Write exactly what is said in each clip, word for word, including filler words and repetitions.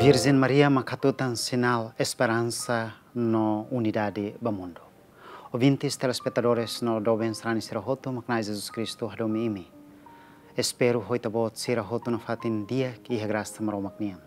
Virjen Maria mak hatutan sinál esperansa no unidade ba mundu. Ouvintes, telespetadores no doben sarani sira hotu, mak Na'i Jesus Kristu hadomi imi. Espera ho ita-boot sira hotu nafatin di'ak iha grasa Maromak nian.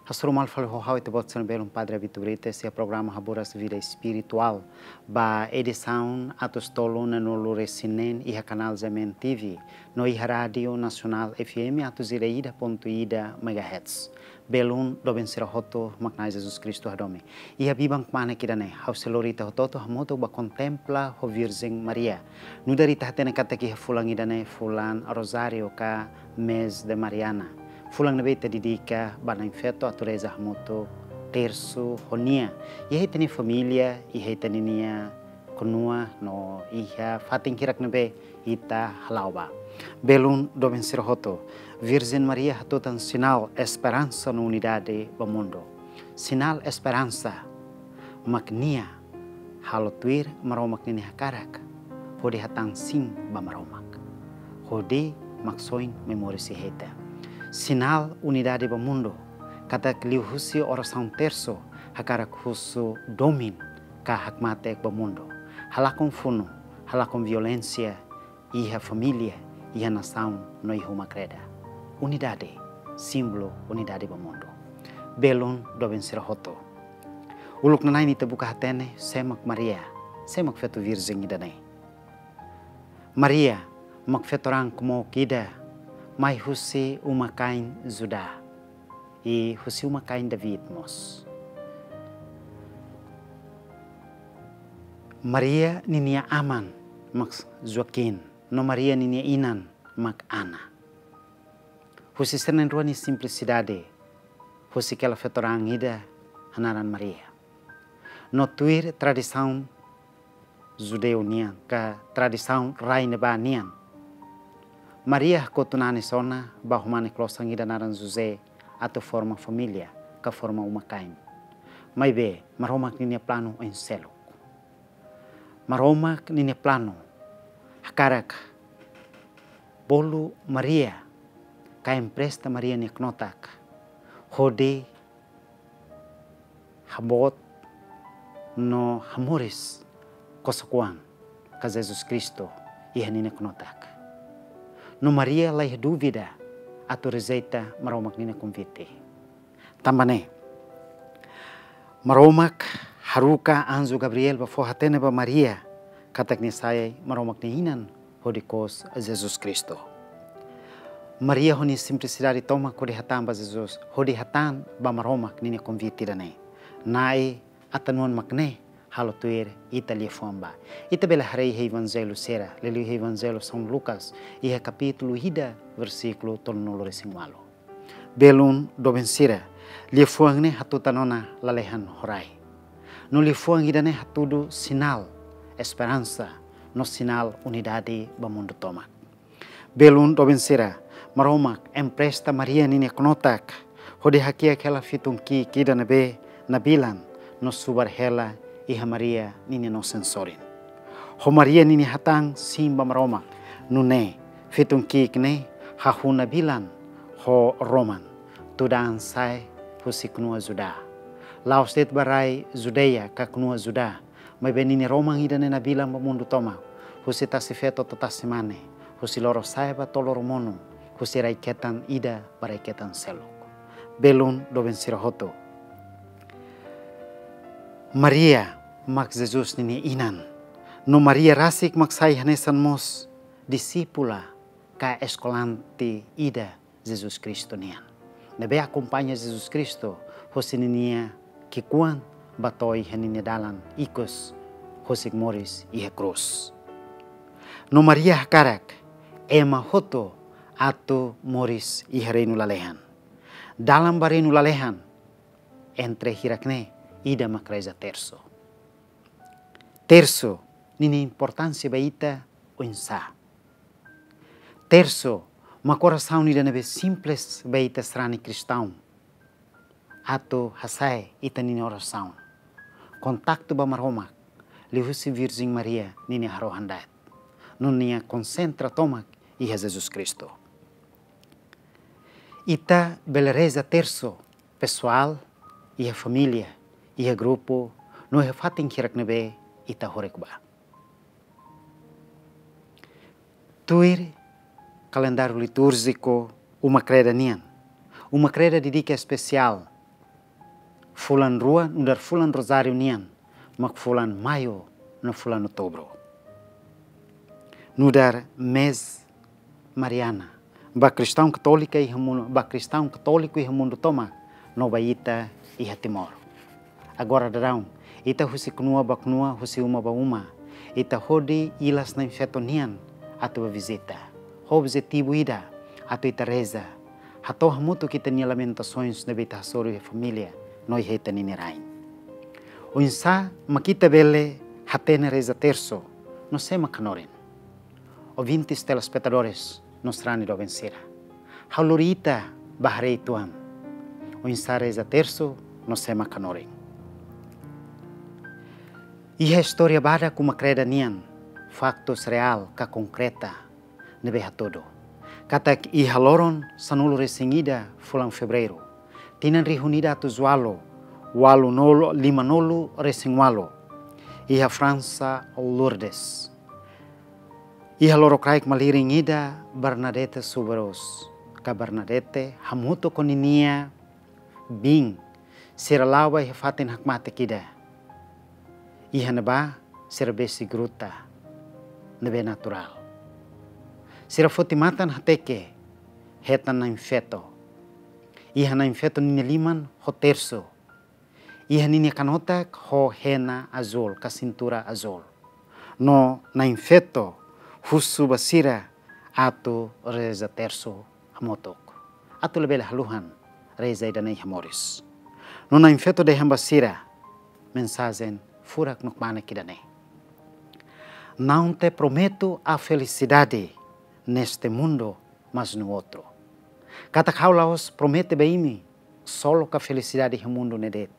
Hasoru malu fali ho ha'u ita-boot sira-nia belun Padre Abito Brites iha programa Haburas Vida Espirituál ba edisaun atus tolu neenulu-resin-neen iha kanál G M N T V no iha Rádiu Nasionál F M atus ida ida pontu ida megahertz. Belun doben sira hotu, mak Na'i Jesus Kristu hadomi. Iha biban kmanek ida-ne'e, ha'u sei lori ita hotu-hotu hamutuk ba kontempla ho Virjen Maria. Nu'udar ita hatene katak iha fulan ida-ne'e fulan Rozáriu ka mês de Mariana. Fulan ne'ebé ita dedika ba Na'in Feto atu reza hamutuk tersu ho nia. Iha ita-nia família, iha ita-nia knua no iha fatin hirak ne'ebé ita hala'o ba. Belun doben sira hotu, Virjen Maria hatutan sinál esperansa no unidade ba mundu. Sinál esperansa mak nia halo tuir Maromak ninia hakarak, hodi hatán sin ba Maromak, hodi maksoin mai moris iha ita. Sinál unidade ba mundu, katak liuhusi orasaun tersu hakarak husu domin ka hakmatek ba mundu. Halakon funu, halakon violénsia iha família, iha nasaun no iha uma-kreda. Unidade, símbolu unidade ba mundu. Belun doben sira hotu. Uluk nanain ita buka hatene sé mak Maria, sé mak feto virjen ida-ne'e. Maria mak feto-raan kumook ida mai husi uma-kain Judá, i husi uma-kain David mós. Maria ninia aman mak Joaquim, no Maria ninia inan mak Ana. Husi sira na'in-rua nia simplisidade, husik hela feto-raan ida hanaran Maria. No tuir tradisaun judeu nian, ka tradisaun rai ne'ebá nian, Maria hakotu nanis ona ba ho mane klosan ida naran José atu forma família, ka forma uma-kain. Maibé, Maromak ninia planu oin seluk. Maromak ninia planu hakarak bolu Maria, ka empresta Maria nia knotak, hodi haboot no hamoris kosok-oan ka Jesus Kristu iha ninia knotak. No Maria laiha dúvida atu rejeita Maromak ninia konvite. Tanba ne'e, Maromak haruka anju Gabriel ba fó hatene ba Maria katak nia sai Maromak nia inan hodi kous Jesus Kristu. Maria ho nia simplisidade tomak hodi hatán ba Jesus, hodi hatán ba Maromak ninia konvite ida-ne'e. Na'i, atan-oan mak ne'e, halo tuir ita liafuan ba. Ita bele haree iha Evanjellu sira, liuliu iha Evanjellu São Lucas, iha kapítulu ida, versíkulu tolunulu-resin-ualu. Belun doben sira, liafuan ne'e hatutan ona lalehan ho rai. No liafuan ida-ne'e hatudu sinál esperansa no sinál unidade ba mundu tomak. Belun doben sira, Maromak empresta Maria ninia knotak, hodi hakiak hela fitun ki'ik ida ne'ebé nabilan no subar hela iha Maria ninia nosen sorin. Ho Maria ninia hatán sin ba Maromak, nune'e fitun ki'ik ne'e hahú nabilan ho roman, tudan sa'e husi knua Judá. La'ós de'it ba rai Judeia ka knua Judá, maibé ninia roman ida-ne'e nabilan ba mundu tomak, husi tasi-feto to'o tasi-mane, husi loro-sa'e ba to'o loro-monu, husi rai-ketan ida ba rai-ketan seluk. Belun doben sira hotu, Maria mak Jesus ninia inan. No Maria rasik mak sai hanesan mós disípula ka eskolante ida Jesus Kristu nian, ne'ebé akompaña Jesus Kristu husi ninia ki'ikoan ba to'o iha ninia dalan ikus husik moris iha krús. No Maria hakarak ema hotu atu moris iha reinu lalehan. Dalan ba reinu lalehan, entre hirak ne'e, ida mak reza tersu. Tersu ninia importánsia ba ita oinsá? Tersu mak orasaun ida ne'ebé simples ba ita sarani kristaun atu hasa'e ita-nia orasaun, kontaktu ba Maromak liuhusi Virjen Maria ninia harohan-da'et, no nia konsentra tomak iha Jesus Kristu. Ita bele reza tersu pesoál, iha família, iha grupu, no iha fatin hirak ne'ebé ita horek ba. Tuir kalendáriu litúrjiku Uma Kreda nian, Uma Kreda dedika espesiál fulan rua nu'udar fulan Rozáriu nian, mak fulan Maiu no fulan Outubru. Nu'udar mês Mariana, ba kristaun katólika iha mundu, ba kristaun katóliku iha mundu tomak, no ba ita iha Timor. Agora daudaun, ita husi knua ba knua, husi uma ba uma, ita hodi ilas Na'in-Feto nian atu ba vizita. Ho objetivu ida, atu ita reza, hato'o hamutuk ita-nia lamentasoens ne'ebé ita hasoru iha família no iha ita-nia rain. Oinsá mak ita bele hatene reza tersu, no sé mak hanorin? Ouvintes, telespetadores, no sarani doben sira, ha'u lori ita ba haree uitoan oinsá reza tersu no sé mak hanorin. Iha istória badak Uma Kreda nian, faktus reál ka konkreta ne'ebé hatudu katak iha loron sanulu-resin-ida fulan Fevereiru, tinan rihun ida atus ualu, ualu nolu, lima nolu resin ualu, iha Fransa, Lourdes, iha lorokraik malirin ida, Bernadette Soubirous, ka Bernadette, hamutuk ho ninia biin, sira la'o ba iha fatin hakmatek ida, iha ne'ebá sira besik gruta ne'ebé naturál. Sira foti matan hateke, hetan Na'in-Feto. Iha Na'in-Feto ninia liman ho tersu. Iha ninia kanotak ho hena azúl ka sintura azúl. No Na'in-Feto husu ba sira atu reza tersu hamutuk, atu labele haluhan reza ida-ne'e iha moris. No Na'in-Feto dehan ba sira mensajen furak no kmanek ida-ne'e: Não te prometo a felicidade neste mundo, mas no outro. Katak ha'u la'ós promete ba imi ksolok ka felisidade iha mundu ne'e de'it.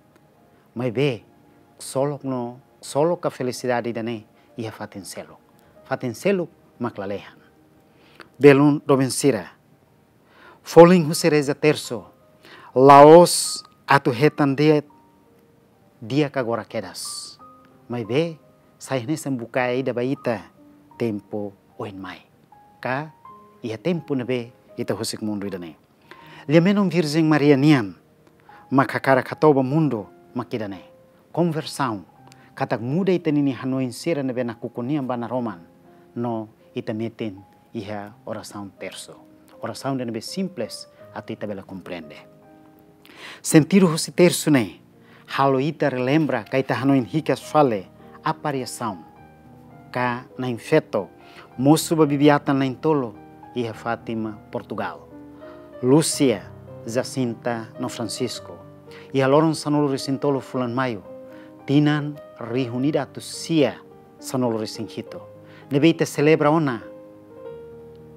Maibé, ksolok no, ksolok ka felisidade ida-ne'e iha fatin seluk. Fatin seluk mak lalehan. Belun doben sira, folin husi reza tersu la'ós atu hetan de'it di'ak agora kedas. Maibé, sai hanesan bukae ida ba ita tempu oin mai, ka iha tempu ne'ebé ita husik mundu ida-ne'e. Liamenon Virjen Maria nian mak hakarak hato'o ba mundu mak ida-ne'e. Konversaun, katak muda ita-ninia hanoin sira ne'ebé nakukun nian ba naroman, no ita metin iha orasaun tersu. Orasaun ida ne'ebé simples atu ita bele komprende. Sentidu husi tersu ne'e halo ita relembra ka ita hanoin hikas fali aparisaun ka Na'in-Feto mosu ba bibi-atan na'in-tolu iha Fátima, Portugal. Lúcia, Jacinta no Francisco, iha loron sanulu-resin-tolu fulan Maiu, tinan rihun ida atus sia sanulu-resin-hitu. Ne'ebé ita selebra ona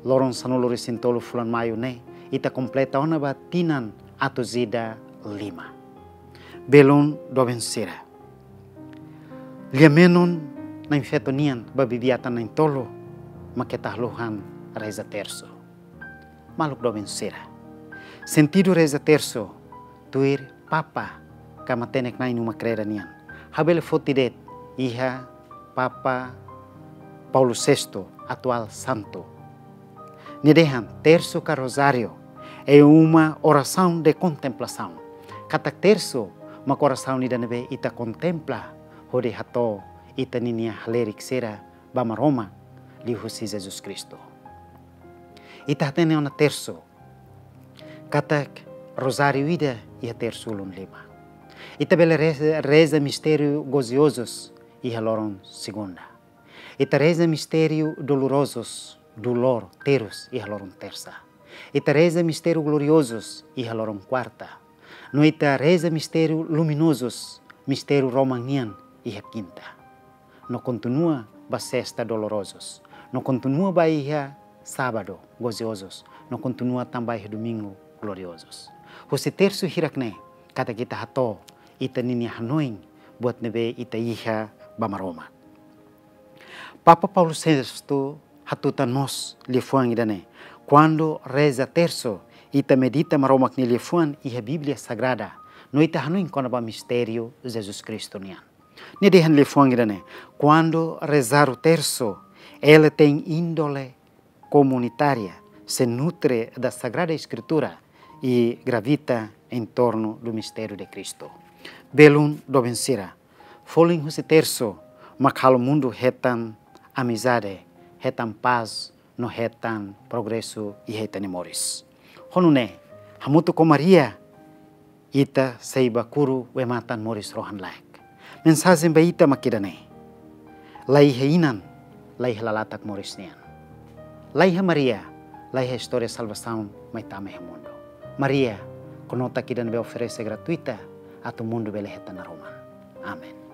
loron sanulu-resin-tolu fulan Maiu ne'e, ita kompleta ona ba tinan atus ida lima. Belun doben sira, liamenon Na'in-Feto nian ba bibi-atan na'in-tolu mak ita haluhan reza tersu. Maluk doben sira, sentidu reza tersu, tuir Papa ka matenek-na'in Uma Kreda nian, ha'u bele foti de'it iha Papa Paulo sestu, atuál santu. Nia dehan tersu ka rozáriu é uma oração de contemplação. Katak tersu mak orasaun ida ne'ebé ita kontempla hodi hato'o ita-ninia halerik sira ba Maromak liuhusi Jesus Kristu. Ita hatene ona tersu katak rozáriu ida iha tersu ulun lima. Ita bele reza, reza mistériu goziozus iha loron segunda. Ita reza mistériu dolorozus, dolór, terus, iha loron tersa. Ita reza mistériu gloriozus iha loron kuarta. No ita reza mistériu luminozus, mistériu roman nian, iha kinta. No kontinua ba sesta dolorozus. No kontinua ba iha sábadu goziozus. No kontinua tan ba iha domingu gloriozus. Husi tersu hirak ne'e, katak ita hato'o ita-ninia hanoin buat ne'ebé ita iha ba Maromak. Papa Paulo sestu hatutan mós liafuan ida-ne'e, kuandu reza tersu Ita medita Maromak nia liafuan iha Bíblia Sagrada, no ita hanoin kona-ba mistériu Jesus Kristu nian. Nia dehan liafuan ida-ne'e: Quando rezar o terço, ele tem índole comunitária, se nutre da Sagrada Escritura e gravita em torno do mistério de Cristo. Belun doben sira, folin husi terço mak halo mundu hetan amizade, hetan pás, no hetan progresu iha ita-nia moris. Ho nune'e, hamutuk ho Maria, ita sei bá kuru bee-matan moris rohan-laek. Mensajen ba ita mak ida-ne'e: la iha inan, la iha lalatak moris nian. La iha Maria, la iha istória salvasaun mai tama iha mundu. Maria, knotak ida ne'ebé oferese gratuita atu mundu bele hetan naroman. Amen.